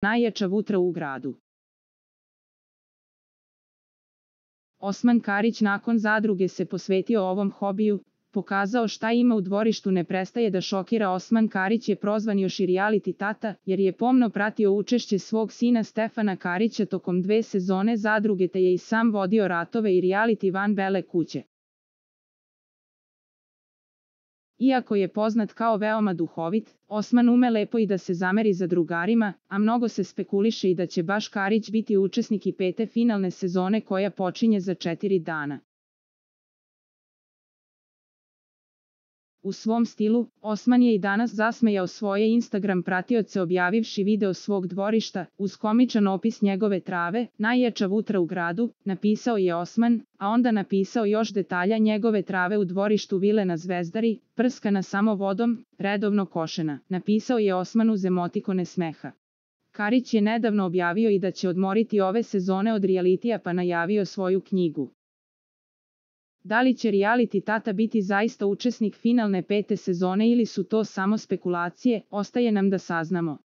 Najjača vutra u gradu. Osman Karić nakon zadruge se posvetio ovom hobiju, pokazao šta ima u dvorištu ne prestaje da šokira. Osman Karić je prozvan još i reality tata, jer je pomno pratio učešće svog sina Stefana Karića tokom 2 sezone zadruge te je i sam vodio ratove i reality van bele kuće. Iako je poznat kao veoma duhovit, Osman ume lepo i da se zameri zadrugarima, a mnogo se spekuliše i da će baš Karić biti učesnik i 5. finalne sezone koja počinje za 4 dana. U svom stilu, Osman je i danas zasmejao svoje Instagram pratioce objavivši video svog dvorišta, uz komičan opis njegove trave, najjača vutra u gradu, napisao je Osman, a onda napisao još detalja njegove trave u dvorištu vile na Zvezdari, prskana samo vodom, redovno košena, napisao je Osman uz emotikone smeha. Karić je nedavno objavio i da će odmoriti ove sezone od realitija pa najavio svoju knjigu. Da li će reality tata biti zaista učesnik finalne 5. sezone ili su to samo spekulacije, ostaje nam da saznamo.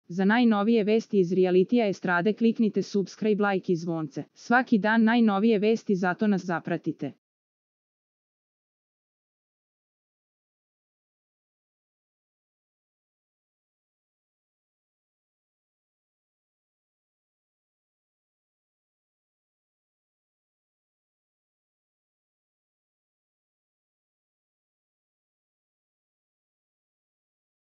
Za najnovije vesti iz realitija estrade kliknite subscribe, like i zvonce. Svaki dan najnovije vesti, zato nas zapratite.